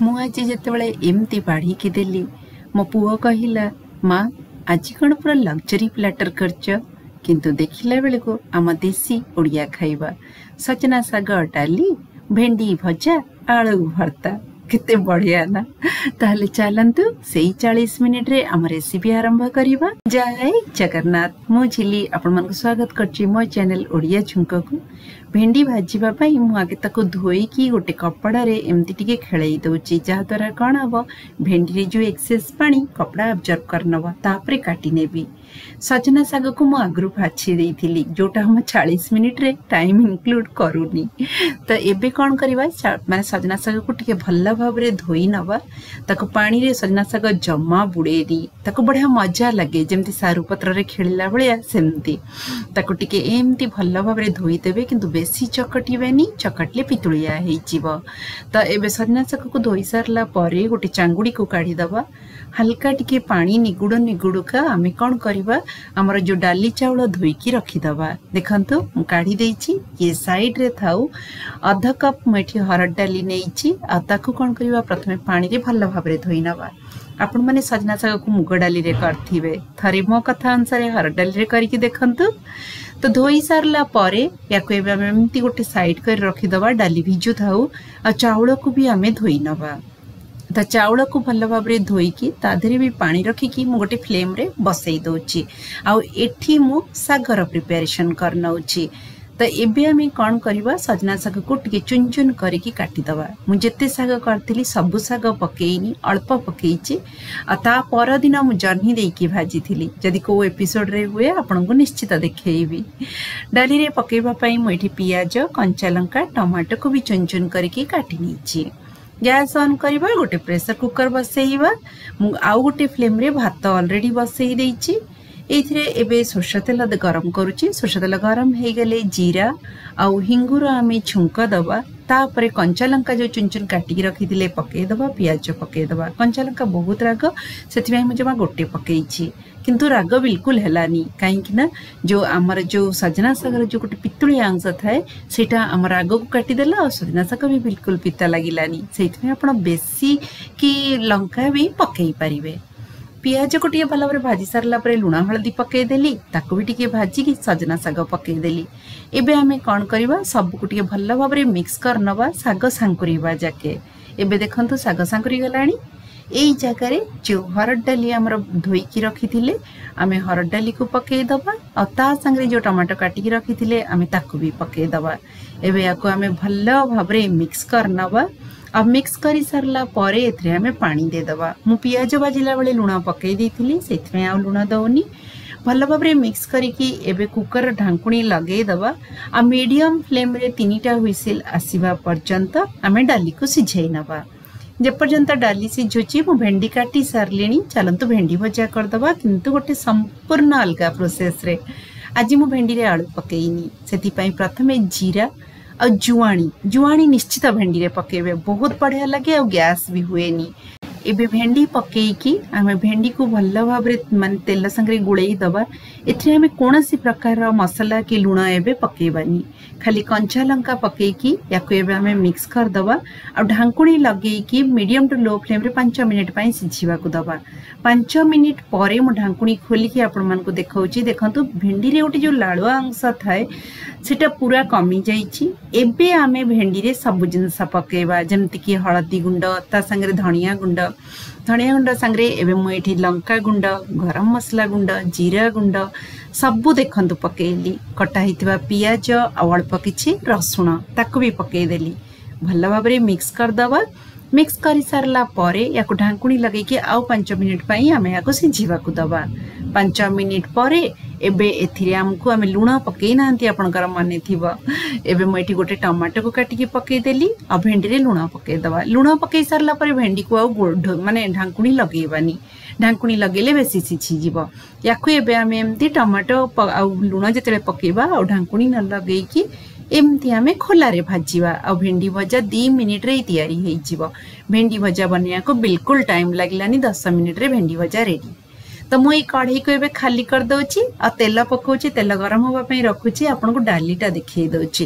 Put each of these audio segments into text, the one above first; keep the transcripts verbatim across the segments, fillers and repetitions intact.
ମୁଁ ଆଜି ଯେତେବେଳେ ଏମିତି ବାଢ଼ିକି ଦେଲି, ମୋ ପୁଅ କହିଲା, ମା ଆଜି କ'ଣ ପୁରା ଲକ୍ଜରୀ ପ୍ଲାଟର କରିଛ? କିନ୍ତୁ ଦେଖିଲା ବେଳକୁ ଆମ ଦେଶୀ ଓଡ଼ିଆ ଖାଇବା, ସଜନା ଶାଗ ଡାଲି, ଭେଣ୍ଡି ଭଜା, ଆଳୁ ଭର୍ତ୍ତା, କେତେ ବଢ଼ିଆ ନା? ତାହେଲେ ଚାଲନ୍ତୁ ସେଇ ଚାଳିଶ ମିନିଟରେ ଆମ ରେସିପି ଆରମ୍ଭ କରିବା। ଜୟ ଜଗନ୍ନାଥ, ମୁଁ ଝିଲି ଆପଣମାନଙ୍କୁ ସ୍ୱାଗତ କରୁଛି ମୋ ଚ୍ୟାନେଲ ଓଡ଼ିଆ ଝୁଙ୍କକୁ। ଭେଣ୍ଡି ଭାଜିବା ପାଇଁ ମୁଁ ଆଗେ ତାକୁ ଧୋଇକି ଗୋଟେ କପଡ଼ାରେ ଏମିତି ଟିକେ ଖେଳେଇ ଦେଉଛି, ଯାହାଦ୍ୱାରା କ'ଣ ହେବ, ଭେଣ୍ଡିରେ ଯେଉଁ ଏକ୍ସେସ୍ ପାଣି କପଡ଼ା ଆବଜର୍ବ କରିନେବ। ତାପରେ କାଟି ନେବି। ସଜନା ଶାଗକୁ ମୁଁ ଆଗରୁ ବାଛି ଦେଇଥିଲି, ଯେଉଁଟା ଆମ ଚାଳିଶ ମିନିଟରେ ଟାଇମ୍ ଇନକ୍ଲୁଡ଼ କରୁନି। ତ ଏବେ କ'ଣ କରିବା, ମାନେ ସଜନା ଶାଗକୁ ଟିକେ ଭଲ ଭାବରେ ଧୋଇ ନେବା। ତାକୁ ପାଣିରେ ସଜନା ଶାଗ ଜମା ବୁଡ଼େଇନି, ତାକୁ ବଢ଼ିଆ ମଜା ଲାଗେ, ଯେମିତି ସାରୁ ପତ୍ରରେ ଖେଳିଲା ଭଳିଆ ସେମିତି। ତାକୁ ଟିକେ ଏମିତି ଭଲ ଭାବରେ ଧୋଇଦେବେ, କିନ୍ତୁ ବେଶୀ ଚକଟିବେନି, ଚକଟିଲେ ପିତୁଳିଆ ହେଇଯିବ। ତ ଏବେ ସଜନା ଶାଗକୁ ଧୋଇ ସାରିଲା ପରେ ଗୋଟେ ଚାଙ୍ଗୁଡ଼ିକୁ କାଢ଼ିଦେବା। ହାଲକା ଟିକେ ପାଣି ନିଗୁଡ଼ ନିଗୁଡ଼ୁକା ଆମେ କ'ଣ କରିବା, ଆମର ଯେଉଁ ଡାଲି ଚାଉଳ ଧୋଇକି ରଖିଦେବା। ଦେଖନ୍ତୁ, ମୁଁ କାଢ଼ି ଦେଇଛି, ଇଏ ସାଇଡ଼ରେ ଥାଉ। ଅଧ କପ୍ ମୁଁ ଏଠି ହରଡ଼ ଡାଲି ନେଇଛି, ଆଉ ତାକୁ କ'ଣ କରିବା, ପ୍ରଥମେ ପାଣିରେ ଭଲ ଭାବରେ ଧୋଇ ନେବା। ଆପଣମାନେ ସଜନା ଶାଗକୁ ମୁଗ ଡାଲିରେ କରିଥିବେ, ଥରେ ମୋ କଥା ଅନୁସାରେ ହରଡ଼ ଡାଲିରେ କରିକି ଦେଖନ୍ତୁ। ତ ଧୋଇ ସାରିଲା ପରେ ୟାକୁ ଏବେ ଆମେ ଏମିତି ଗୋଟେ ସାଇଡ଼୍ କରି ରଖିଦେବା, ଡାଲି ଭିଜୁଥାଉ। ଆଉ ଚାଉଳକୁ ବି ଆମେ ଧୋଇ ନେବା। ତ ଚାଉଳକୁ ଭଲ ଭାବରେ ଧୋଇକି ତା ଦେହରେ ବି ପାଣି ରଖିକି ମୁଁ ଗୋଟେ ଫ୍ଲେମ୍ରେ ବସେଇ ଦେଉଛି, ଆଉ ଏଠି ମୁଁ ଶାଗର ପ୍ରିପାରେସନ୍ କରିନେଉଛି। ତ ଏବେ ଆମେ କ'ଣ କରିବା, ସଜନା ଶାଗକୁ ଟିକେ ଚୁନ ଚୁନ କରିକି କାଟିଦେବା। ମୁଁ ଯେତେ ଶାଗ କରିଥିଲି ସବୁ ଶାଗ ପକେଇନି, ଅଳ୍ପ ପକେଇଛି। ଆଉ ତା ପରଦିନ ମୁଁ ଜହ୍ନି ଦେଇକି ଭାଜିଥିଲି। ଯଦି କେଉଁ ଏପିସୋଡ଼ରେ ହୁଏ ଆପଣଙ୍କୁ ନିଶ୍ଚିତ ଦେଖେଇବି। ଡାଲିରେ ପକେଇବା ପାଇଁ ମୁଁ ଏଠି ପିଆଜ, କଞ୍ଚା ଲଙ୍କା, ଟମାଟୋକୁ ବି ଚୁନ ଚୁନ କରିକି କାଟି ନେଇଛି। ଗ୍ୟାସ୍ ଅନ୍ କରିବା, ଗୋଟେ ପ୍ରେସର କୁକର ବସେଇବା। ମୁଁ ଆଉ ଗୋଟେ ଫ୍ଲେମ୍ରେ ଭାତ ଅଲରେଡ଼ି ବସେଇ ଦେଇଛି। ଏଇଥିରେ ଏବେ ସୋରିଷ ତେଲ ଗରମ କରୁଛି। ସୋରିଷ ତେଲ ଗରମ ହେଇଗଲେ ଜିରା ଆଉ ହିଙ୍ଗୁର ଆମେ ଛୁଙ୍କ ଦେବା। ତାପରେ କଞ୍ଚା ଲଙ୍କା ଯେଉଁ ଚୁନ ଚୁନ କାଟିକି ରଖିଥିଲେ ପକେଇଦେବା, ପିଆଜ ପକେଇଦେବା। କଞ୍ଚା ଲଙ୍କା ବହୁତ ରାଗ, ସେଥିପାଇଁ ମୁଁ ଜମା ଗୋଟେ ପକେଇଛି, କିନ୍ତୁ ରାଗ ବିଲକୁଲ ହେଲାନି, କାହିଁକି ନା ଯେଉଁ ଆମର ଯେଉଁ ସଜନା ଶାଗର ଯେଉଁ ଗୋଟେ ପିତୁଳିଆ ଅଂଶ ଥାଏ ସେଇଟା ଆମ ରାଗକୁ କାଟିଦେଲା, ଆଉ ସଜନା ଶାଗ ବି ବିଲକୁଲ ପିତା ଲାଗିଲାନି। ସେଇଥିପାଇଁ ଆପଣ ବେଶୀ କି ଲଙ୍କା ବି ପକେଇ ପାରିବେ। ପିଆଜକୁ ଟିକେ ଭଲ ଭାବରେ ଭାଜି ସାରିଲା ପରେ ଲୁଣ ହଳଦୀ ପକେଇଦେଲି, ତାକୁ ବି ଟିକେ ଭାଜିକି ସଜନା ଶାଗ ପକେଇଦେଲି। ଏବେ ଆମେ କ'ଣ କରିବା, ସବୁକୁ ଟିକେ ଭଲ ଭାବରେ ମିକ୍ସ କରିନେବା ଶାଗ ସାଙ୍କୁରିବା ଯାକେ। ଏବେ ଦେଖନ୍ତୁ ଶାଗ ସାଙ୍କୁରି ଗଲାଣି। ଏଇ ଜାଗାରେ ଯେଉଁ ହରଡ଼ ଡାଲି ଆମର ଧୋଇକି ରଖିଥିଲେ ଆମେ ହରଡ଼ ଡାଲିକୁ ପକେଇଦେବା, ଆଉ ତା ସାଙ୍ଗରେ ଯେଉଁ ଟମାଟୋ କାଟିକି ରଖିଥିଲେ ଆମେ ତାକୁ ବି ପକେଇଦେବା। ଏବେ ୟାକୁ ଆମେ ଭଲ ଭାବରେ ମିକ୍ସ କରିନେବା, ଆଉ ମିକ୍ସ କରି ସାରିଲା ପରେ ଏଥିରେ ଆମେ ପାଣି ଦେଇଦେବା। ମୁଁ ପିଆଜ ଭାଜିଲା ବେଳେ ଲୁଣ ପକେଇ ଦେଇଥିଲି, ସେଥିପାଇଁ ଆଉ ଲୁଣ ଦେଉନି। ଭଲ ଭାବରେ ମିକ୍ସ କରିକି ଏବେ କୁକର ଢାଙ୍କୁଣୀ ଲଗେଇଦେବା, ଆଉ ମିଡ଼ିୟମ୍ ଫ୍ଲେମ୍ରେ ତିନିଟା ହୁଇସିଲ୍ ଆସିବା ପର୍ଯ୍ୟନ୍ତ ଆମେ ଡାଲିକୁ ସିଝେଇ ନେବା। ଯେପର୍ଯ୍ୟନ୍ତ ଡାଲି ସିଝୁଛି ମୁଁ ଭେଣ୍ଡି କାଟି ସାରିଲିଣି, ଚାଲନ୍ତୁ ଭେଣ୍ଡି ଭଜା କରିଦେବା, କିନ୍ତୁ ଗୋଟେ ସମ୍ପୂର୍ଣ୍ଣ ଅଲଗା ପ୍ରୋସେସ୍ରେ। ଆଜି ମୁଁ ଭେଣ୍ଡିରେ ଆଳୁ ପକେଇନି, ସେଥିପାଇଁ ପ୍ରଥମେ ଜିରା ଆଉ ଜୁଆଣି, ଜୁଆଣି ନିଶ୍ଚିତ ଭେଣ୍ଡିରେ ପକେଇବେ, ବହୁତ ବଢ଼ିଆ ଲାଗେ ଆଉ ଗ୍ୟାସ୍ ବି ହୁଏନି। ଏବେ ଭେଣ୍ଡି ପକେଇକି ଆମେ ଭେଣ୍ଡିକୁ ଭଲ ଭାବରେ ମାନେ ତେଲ ସାଙ୍ଗରେ ଗୋଳେଇ ଦେବା। ଏଥିରେ ଆମେ କୌଣସି ପ୍ରକାରର ମସଲା କି ଲୁଣ ଏବେ ପକେଇବାନି, ଖାଲି କଞ୍ଚା ଲଙ୍କା ପକେଇକି ୟାକୁ ଏବେ ଆମେ ମିକ୍ସ କରିଦେବା, ଆଉ ଢାଙ୍କୁଣୀ ଲଗେଇକି ମିଡ଼ିୟମ୍ ଟୁ ଲୋ ଫ୍ଲେମ୍ରେ ପାଞ୍ଚ ମିନିଟ୍ ପାଇଁ ସିଝିବାକୁ ଦେବା। ପାଞ୍ଚ ମିନିଟ୍ ପରେ ମୁଁ ଢାଙ୍କୁଣୀ ଖୋଲିକି ଆପଣମାନଙ୍କୁ ଦେଖାଉଛି। ଦେଖନ୍ତୁ, ଭେଣ୍ଡିରେ ଗୋଟେ ଯେଉଁ ଲାଳୁଆ ଅଂଶ ଥାଏ ସେଟା ପୁରା କମିଯାଇଛି। ଏବେ ଆମେ ଭେଣ୍ଡିରେ ସବୁ ଜିନିଷ ପକେଇବା, ଯେମିତିକି ହଳଦୀ ଗୁଣ୍ଡ, ତା ସାଙ୍ଗରେ ଧଣିଆ ଗୁଣ୍ଡ, ଧଣିଆ ଗୁଣ୍ଡ ସାଙ୍ଗରେ ଏବେ ମୁଁ ଏଠି ଲଙ୍କା ଗୁଣ୍ଡ, ଗରମ ମସଲା ଗୁଣ୍ଡ, ଜିରା ଗୁଣ୍ଡ ସବୁ ଦେଖନ୍ତୁ ପକେଇଲି। କଟା ହେଇଥିବା ପିଆଜ ଆଉ ଅଳ୍ପ କିଛି ରସୁଣ ତାକୁ ବି ପକେଇଦେଲି। ଭଲ ଭାବରେ ମିକ୍ସ କରିଦେବା। ମିକ୍ସ କରିସାରିଲା ପରେ ୟାକୁ ଢାଙ୍କୁଣୀ ଲଗେଇକି ଆଉ ପାଞ୍ଚ ମିନିଟ୍ ପାଇଁ ଆମେ ୟାକୁ ସିଝିବାକୁ ଦେବା। ପାଞ୍ଚ ମିନିଟ୍ ପରେ ଏବେ ଏଥିରେ ଆମକୁ ଆମେ ଲୁଣ ପକେଇ ନାହାନ୍ତି, ଆପଣଙ୍କର ମନେ ଥିବ। ଏବେ ମୁଁ ଏଠି ଗୋଟେ ଟମାଟୋକୁ କାଟିକି ପକେଇଦେଲି, ଆଉ ଭେଣ୍ଡିରେ ଲୁଣ ପକେଇଦେବା। ଲୁଣ ପକେଇ ସାରିଲା ପରେ ଭେଣ୍ଡିକୁ ଆଉ ମାନେ ଢାଙ୍କୁଣୀ ଲଗେଇବାନି, ଢାଙ୍କୁଣୀ ଲଗେଇଲେ ବେଶୀ ସିଝିଯିବ। ୟାକୁ ଏବେ ଆମେ ଏମିତି ଟମାଟୋ ଆଉ ଲୁଣ ଯେତେବେଳେ ପକେଇବା ଆଉ ଢାଙ୍କୁଣୀ ନ ଲଗେଇକି ଏମିତି ଆମେ ଖୋଲାରେ ଭାଜିବା, ଆଉ ଭେଣ୍ଡି ଭଜା ଦୁଇ ମିନିଟ୍ରେ ତିଆରି ହେଇଯିବ। ଭେଣ୍ଡି ଭଜା ବନେଇବାକୁ ବିଲକୁଲ ଟାଇମ୍ ଲାଗିଲାନି, ଦଶ ମିନିଟ୍ରେ ଭେଣ୍ଡି ଭଜା ରେଡ଼ି। ତ ମୁଁ ଏଇ କଢ଼େଇକୁ ଏବେ ଖାଲି କରିଦେଉଛି ଆଉ ତେଲ ପକାଉଛି। ତେଲ ଗରମ ହେବା ପାଇଁ ରଖୁଛି। ଆପଣଙ୍କୁ ଡାଲିଟା ଦେଖେଇ ଦେଉଛି।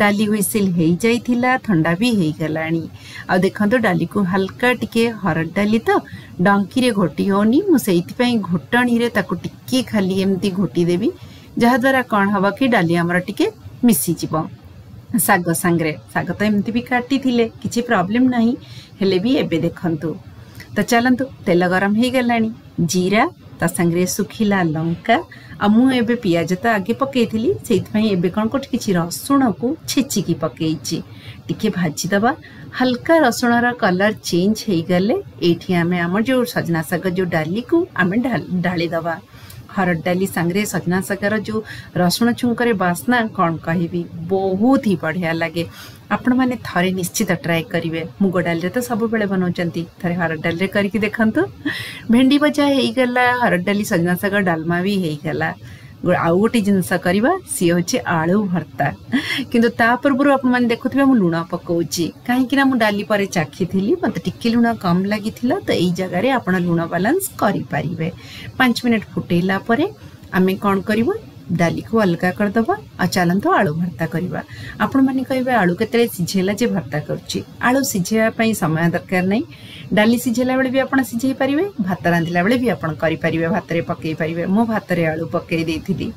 ଡାଲି ହୁଇସିଲ୍ ହେଇଯାଇଥିଲା, ଥଣ୍ଡା ବି ହେଇଗଲାଣି। ଆଉ ଦେଖନ୍ତୁ, ଡାଲିକୁ ହାଲକା ଟିକେ, ହରଡ଼ ଡାଲି ତ ଡଙ୍କିରେ ଘୋଟି ହେଉନି, ମୁଁ ସେଇଥିପାଇଁ ଘୋଟଣୀରେ ତାକୁ ଟିକେ ଖାଲି ଏମିତି ଘୋଟି ଦେବି, ଯାହାଦ୍ୱାରା କ'ଣ ହବ କି ଡାଲି ଆମର ଟିକେ ମିଶିଯିବ ଶାଗ ସାଙ୍ଗରେ। ଶାଗ ତ ଏମିତି ବି କାଟିଥିଲେ, କିଛି ପ୍ରୋବ୍ଲେମ୍ ନାହିଁ, ହେଲେ ବି ଏବେ ଦେଖନ୍ତୁ। ତ ଚାଲନ୍ତୁ, ତେଲ ଗରମ ହେଇଗଲାଣି। ଜିରା, ତା ସାଙ୍ଗରେ ଶୁଖିଲା ଲଙ୍କା। ଆଉ ମୁଁ ଏବେ ପିଆଜ ତ ଆଗେ ପକେଇଥିଲି, ସେଇଥିପାଇଁ ଏବେ କ'ଣ କରୁଛି, କିଛି ରସୁଣକୁ ଛେଚିକି ପକେଇଛି। ଟିକେ ଭାଜିଦେବା। ହାଲକା ରସୁଣର କଲର୍ ଚେଞ୍ଜ ହେଇଗଲେ ଏଇଠି ଆମେ ଆମର ଯେଉଁ ସଜନା ଶାଗ, ଯେଉଁ ଡାଲିକୁ ଆମେ ଢାଳିଦେବା। ହରଡ଼ ଡାଲି ସାଙ୍ଗରେ ସଜନା ଶାଗର ଯେଉଁ ରସୁଣ ଛୁଙ୍କରେ ବାସ୍ନା, କ'ଣ କହିବି, ବହୁତ ହି ବଢ଼ିଆ ଲାଗେ। ଆପଣମାନେ ଥରେ ନିଶ୍ଚିତ ଟ୍ରାଏ କରିବେ। ମୁଗ ଡାଲିରେ ତ ସବୁବେଳେ ବନାଉଛନ୍ତି, ଥରେ ହରଡ଼ ଡାଲିରେ କରିକି ଦେଖନ୍ତୁ। ଭେଣ୍ଡି ଭଜା ହେଇଗଲା, ହରଡ଼ ଡାଲି ସଜନା ଶାଗ ଡାଲମା ବି ହେଇଗଲା। ଆଉ ଗୋଟେ ଜିନିଷ କରିବା, ସିଏ ହେଉଛି ଆଳୁ ଭର୍ତ୍ତା। କିନ୍ତୁ ତା ପୂର୍ବରୁ ଆପଣମାନେ ଦେଖୁଥିବେ ମୁଁ ଲୁଣ ପକାଉଛି, କାହିଁକି ନା ମୁଁ ଡାଲି ପରେ ଚାଖିଥିଲି, ମୋତେ ଟିକେ ଲୁଣ କମ୍ ଲାଗିଥିଲା। ତ ଏଇ ଜାଗାରେ ଆପଣ ଲୁଣ ବାଲାନ୍ସ କରିପାରିବେ। ପାଞ୍ଚ ମିନିଟ୍ ଫୁଟେଇଲା ପରେ ଆମେ କ'ଣ କରିବୁ? ଡାଲିକୁ ଅଲଗା କରିଦେବା ଆଉ ଚାଲନ୍ତୁ ଆଳୁ ଭର୍ତ୍ତା କରିବା। ଆପଣମାନେ କହିବେ, ଆଳୁ କେତେବେଳେ ସିଝେଇଲା ଯେ ଭର୍ତ୍ତା କରୁଛି? ଆଳୁ ସିଝେଇବା ପାଇଁ ସମୟ ଦରକାର ନାହିଁ। ଡାଲି ସିଝେଇଲା ବେଳେ ବି ଆପଣ ସିଝେଇ ପାରିବେ, ଭାତ ରାନ୍ଧିଲା ବେଳେ ବି ଆପଣ କରିପାରିବେ, ଭାତରେ ପକେଇ ପାରିବେ। ମୁଁ ଭାତରେ ଆଳୁ ପକେଇ ଦେଇଥିଲି।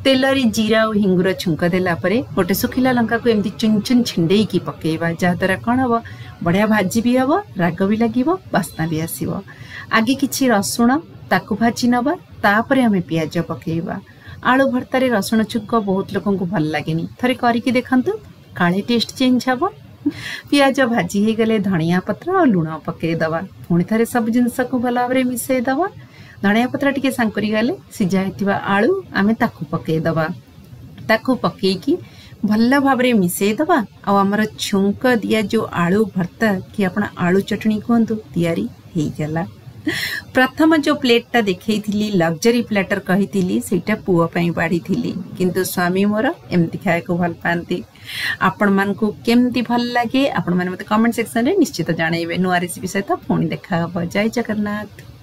ତେଲରେ ଜିରା ଆଉ ହିଙ୍ଗୁର ଛୁଙ୍କ ଦେଲା ପରେ ଗୋଟେ ଶୁଖିଲା ଲଙ୍କାକୁ ଏମିତି ଚୁନ ଚୁନ ଛିଣ୍ଡେଇକି ପକେଇବା, ଯାହାଦ୍ୱାରା କ'ଣ ହବ, ବଢ଼ିଆ ଭାଜି ବି ହବ, ରାଗ ବି ଲାଗିବ, ବାସ୍ନା ବି ଆସିବ। ଆଗେ କିଛି ରସୁଣ ତାକୁ ଭାଜି ନେବା, ତାପରେ ଆମେ ପିଆଜ ପକେଇବା। ଆଳୁ ଭର୍ତ୍ତାରେ ରସୁଣ ଛୁଙ୍କ ବହୁତ ଲୋକଙ୍କୁ ଭଲ ଲାଗେନି, ଥରେ କରିକି ଦେଖନ୍ତୁ, କାଳେ ଟେଷ୍ଟ ଚେଞ୍ଜ ହବ। ପିଆଜ ଭାଜି ହେଇଗଲେ ଧଣିଆ ପତ୍ର ଆଉ ଲୁଣ ପକେଇଦେବା। ପୁଣି ଥରେ ସବୁ ଜିନିଷକୁ ଭଲ ଭାବରେ ମିଶାଇଦେବା। ଧଣିଆ ପତ୍ର ଟିକେ ସାଙ୍କୁରି ଗଲେ ସିଝା ହେଇଥିବା ଆଳୁ ଆମେ ତାକୁ ପକେଇଦେବା। ତାକୁ ପକେଇକି ଭଲ ଭାବରେ ମିଶାଇଦେବା ଆଉ ଆମର ଛୁଙ୍କ ଦିଆ ଯେଉଁ ଆଳୁ ଭର୍ତ୍ତା କି ଆପଣ ଆଳୁ ଚଟଣି କୁହନ୍ତୁ, ତିଆରି ହେଇଗଲା। ପ୍ରଥମ ଯେଉଁ ପ୍ଲେଟ୍ଟା ଦେଖେଇଥିଲି, ଲକ୍ଜରୀ ପ୍ଲାଟର କହିଥିଲି, ସେଇଟା ପୁଅ ପାଇଁ ବାଢ଼ିଥିଲି, କିନ୍ତୁ ସ୍ୱାମୀ ମୋର ଏମିତି ଖାଇବାକୁ ଭଲ ପାଆନ୍ତି। ଆପଣମାନଙ୍କୁ କେମିତି ଭଲ ଲାଗେ, ଆପଣମାନେ ମୋତେ କମେଣ୍ଟ ସେକ୍ସନରେ ନିଶ୍ଚିତ ଜଣାଇବେ। ନୂଆ ରେସିପି ସହିତ ପୁଣି ଦେଖା ହେବ। ଜୟ ଜଗନ୍ନାଥ।